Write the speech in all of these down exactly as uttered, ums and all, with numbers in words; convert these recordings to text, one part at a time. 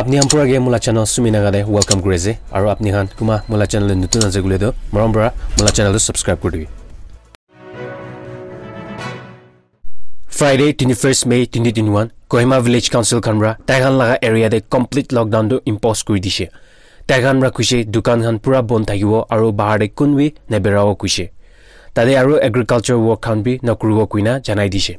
Apni khan pura ke mula channel Sumi Naga de welcome kuri ase. Aru apni khan kuma mula channel de nutun ase koile toh, morom para mula channel tu subscribe kuri dibi. Friday, twenty-first May twenty twenty-one, Kohima Village Council khan para tai khan laga area de complete lockdown tu impose kuri dishe. Tai khan para kuishe dukan khan pura bon thakibo aru bahar de kun bi naberabo kuishe. Tade aru agriculture work khan bi nakuribo kuina janai dishe.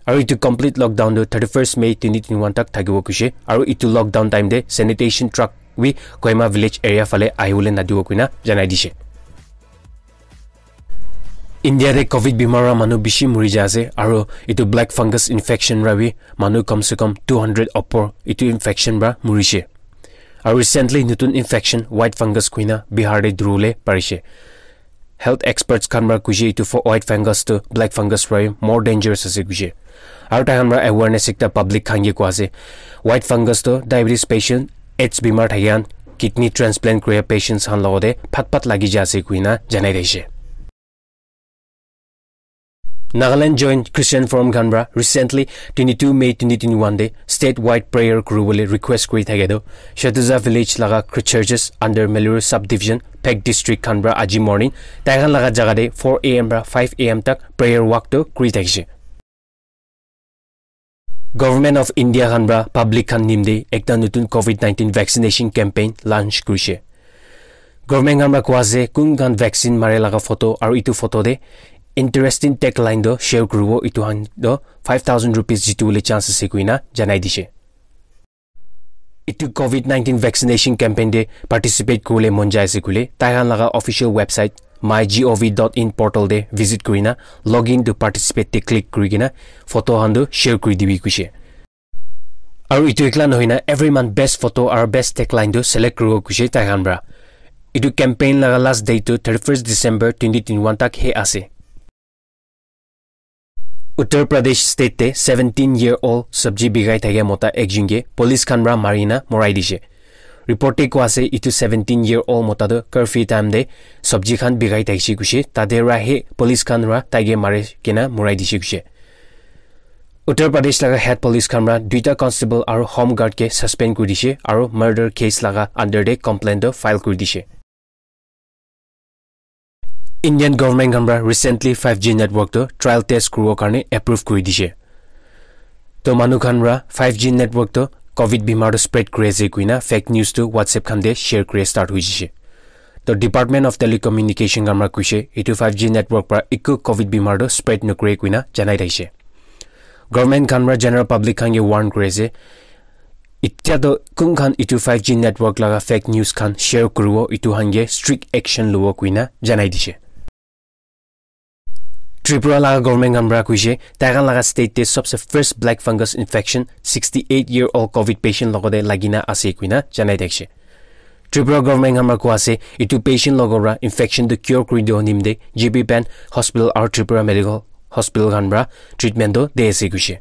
Aru itu complete lockdown tu thirty-first May twenty twenty-one tak thakibo kuishe. Aru itu lockdown time de sanitation truck bi Kohima Village area phale ahibole nadibo kuina janai dishe. India de covid bimar para manu bishi muri ja ase, aru itu black fungus infection para bi manu kam se kam two hundred opor itu infection para murishe. Aru recently nutun infection white fungus kuina Bihar de durule parishe. Health experts khan para kuishe itu fo-, white fungus to black fungus para more dangerous ase kuishe. Aru tai khan para awareness ekta public khan ke koa ase. White fungus to diabetes patient, AIDS bimar thakya khan, kidney transplant kuria patients khan logote phat phat lagi ja ase kuina janai dishe. Nagaland Joint Christian Forum khan para recently twenty-two May twenty twenty-one de statewide prayer kuribole request kuri thake toh, Shatuza village laga churches under Meluru subdivision, Phek district khan para aji morning tai khan laga jaga de four A M para five A M tak prayer walk toh kuri thakishe. Government of India khan para public khan nimde ekta nutun covid nineteen vaccination campaign launch kurishe. Government khan para koa ase kun khan vaccine mare laga photo aru itu photo de interesting tagline toh share kuribo, itu khan toh five thousand rupees jitibole chance ase kuina janai dishe. Itu covid nineteen vaccination campaign de participate kuribole mon jai ase koile tai khan laga official website my gov dot in portal de visit kurina login to participate de click kuri kena photo khan tu share kuri dibi kuishe. Aru itu ekla nohoi na every month best photo aru best tagline tu select kuribo kuishe tai khan para. Itu campaign laga last date tu thirty-first December twenty twenty-one tak he ase. Uttar Pradesh state te seventeen year old sabji bikai thake mota ekjun ke police khan para marina morai dishe. Report te koa ase itu seventeen year old mota tu curfew time te sabji khan bikai thakishe kuishe, tade para he police khan para taike mari kena morai dishe kuishe. Uttar Pradesh laga head police khan para duita constable aru home guard ke suspend kuri dishe aru murder case laga under te complaint tu file kuri dishe. Indian government khan para recently five G network tu trial test kuribo karne approve kuri dishe. To manu khan para five G network tu covid bimar tu spread kuri ase kuina fake news tu WhatsApp khan de share kuri start hoi jishe. To Department of Telecommunication khan para kuishe itu five G network para eku covid bimar tu spread nokure kuina janai thakishe. Government khan para general public khan ke warn kuri ase. Itya toh kun khan itu five G network laga fake news khan share kuribo itu khan ke strict action lobo kuina janai dishe. Tripura laga government khan para kuishe tai khan laga state te sabse first black fungus infection sixty eight year old covid patient logote lagina ase kuina janai thakishe. Tripura government khan para koa ase itu patient logo para infection tu cure kuri dibo nimde G B Pant Hospital aru Tripura Medical Hospital khan para treatment tu de ase kuishe.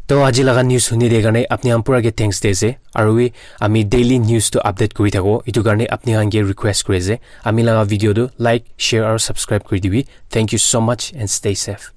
To aji laga news huni de karne apni khan pura ke thanks de ase. Aru wi ami daily news to update kuri thako. Itu karne apni khan ke request kuri ase. Ami laga video tu like, share aru subscribe kuri dibi. Thank you so much and stay safe.